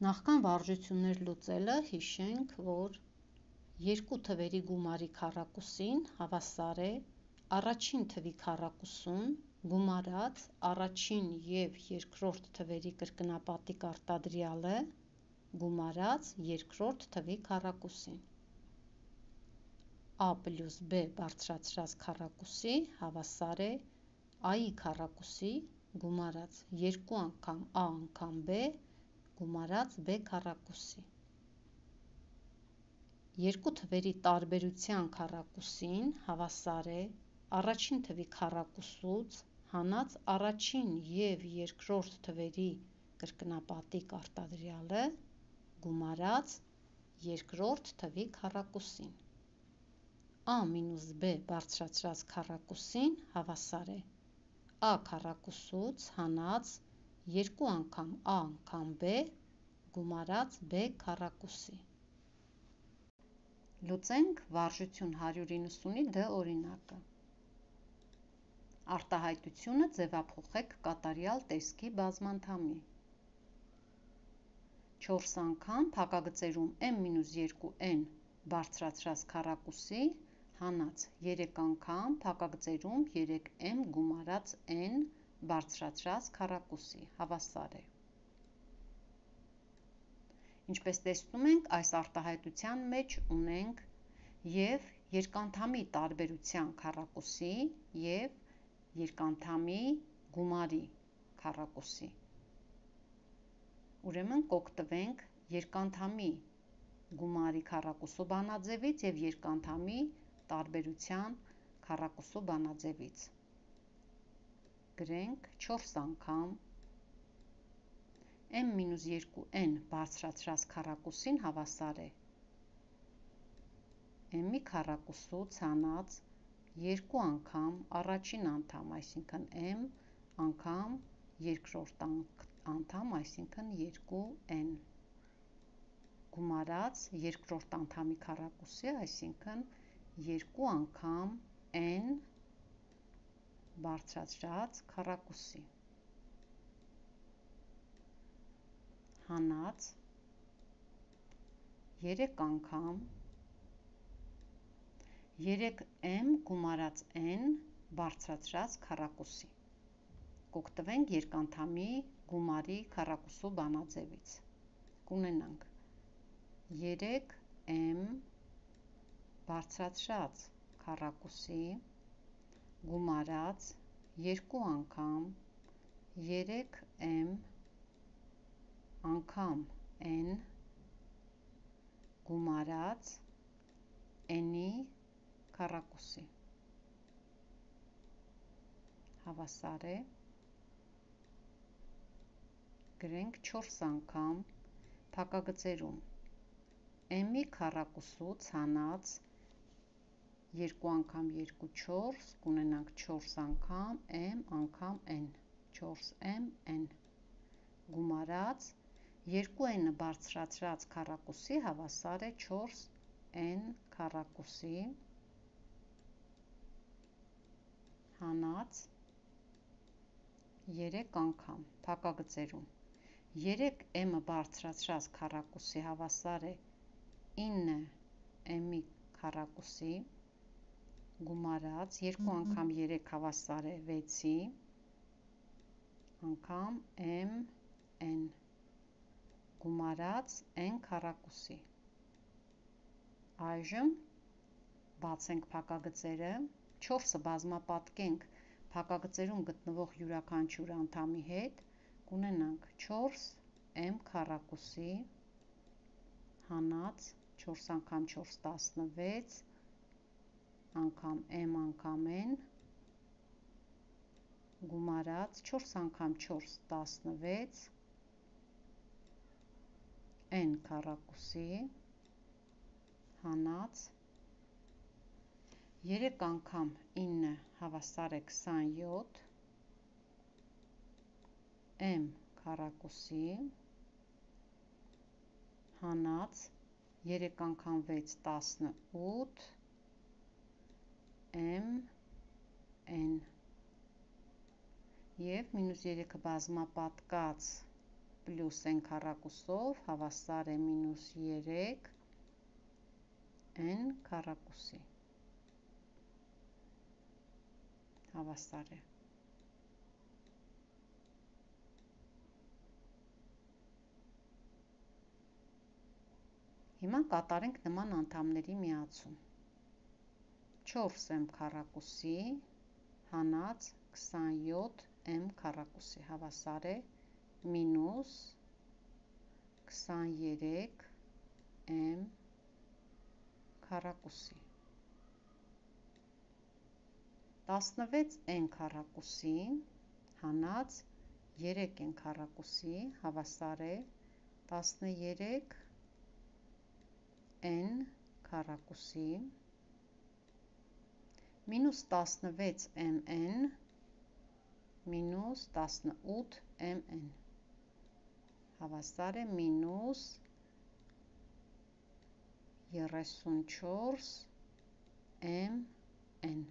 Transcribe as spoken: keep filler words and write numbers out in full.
Նախքան վարժություններ լուծելը հիշենք, որ երկու թվերի գումարի քառակուսին հավասար է առաջին թվի քառակուսուն գումարած առաջին և երկրորդ թվերի կրկնապատիկ արտադրյալը գումարած երկրորդ թվի քառակուսին։ A պլյուս B բարձրացրած քառակուսի հավասար է A-ի քառակուսի գումարած երկու անգամ A անգամ B գումարած B քառակուսի։ Երկու թվերի տարբերության քառակուսին հավասար է առաջին թվի քառակուսուց հանած առաջին և երկրորդ թվերի կրկնապատիկ արտադրյալը գումարած երկրորդ թվի քառակուսին։ A մինուս B բարձրացրած քառակուսին հավասար է A քառակուսուց հանած երկու անգամ A անգամ B գումարած B քառակուսի։ Լուծենք վարժություն հարյուր իննսունի D օրինակը։ Արտահայտությունը ձևափոխեք կատարյալ տեսքի բազմանդամի։ չորս անգամ փակագծերում m մինուս երկու n բարձրացրած քառակուսի հանած երեք անգամ փակագծերում երեք m գումարած n բարձրացրած քառակուսի հավասար է։ Ինչպես տեսնում ենք, այս արտահայտության մեջ ունենք և երկանդամի տարբերության քառակուսի և երկանդամի գումարի քառակուսի։ Ուրեմն կօգտվենք երկանդամի գումարի քառակուսու բանաձևից և երկանդամի տարբերության քառակուսու բանաձևից։ Գրենք չորս անգամ m մինուս երկու n բարձրացրած քառակուսին հավասար է m-ի քառակուսուց հանած երկու անգամ առաջին անդամ, այսինքն m անգամ երկրորդ անդամ, այսինքն երկու n գումարած երկրորդ անդամի քառակուսի, այսինքն երկու անգամ n բարձրացրած քառակուսի հանած երեք անգամ երեք m գումարած n բարձրացրած քառակուսի։ Կօգտվենք երկանդամի գումարի քառակուսու բանաձևից։ Կունենանք երեք m բարձրացրած քառակուսի գումարած երկու անգամ երեք m անգամ n գումարած n-ի քառակուսի հավասար է, գրենք չորս անգամ փակագծերում m-ի քառակուսուց հանած երկու անգամ երկու չորս, կունենանք չորս անգամ m անգամ n, չորս m n գումարած երկու n բարձրացրած քառակուսի հավասար է չորս n քառակուսի հանած երեք անգամ փակագծերում երեք m բարձրացրած քառակուսի հավասար է ինը m-ի քառակուսի գումարած երկու անգամ երեք հավասար է վեցի անգամ m n գումարած n քառակուսի։ Այժմ բացենք փակագծերը, չորսը բազմապատկենք փակագծերում գտնվող յուրաքանչյուր անդամի հետ, կունենանք չորս m քառակուսի հանած չորս անգամ չորս տասնվեց անգամ m անգամ n գումարած չորս անգամ չորս տասնվեց n քառակուսի հանած երեք անգամ ինը հավասար է քսանյոթ m քառակուսի հանած երեք անգամ վեց տասնութ m n և մինուս երեքը բազմապատկած պլյուս n քառակուսով հավասար է մինուս երեք n քառակուսի, հավասար է։ Հիմա կատարենք նման անդամների միացում։ չորս m քառակուսի հանած քսանյոթ m քառակուսի հավասար է մինուս քսաներեք m քառակուսի։ տասնվեց n քառակուսի հանած երեք n քառակուսի հավասար է տասներեք n քառակուսի մինուս տասնվեց mn մինուս տասնութ mn հավասար է մինուս երեսունչորս mn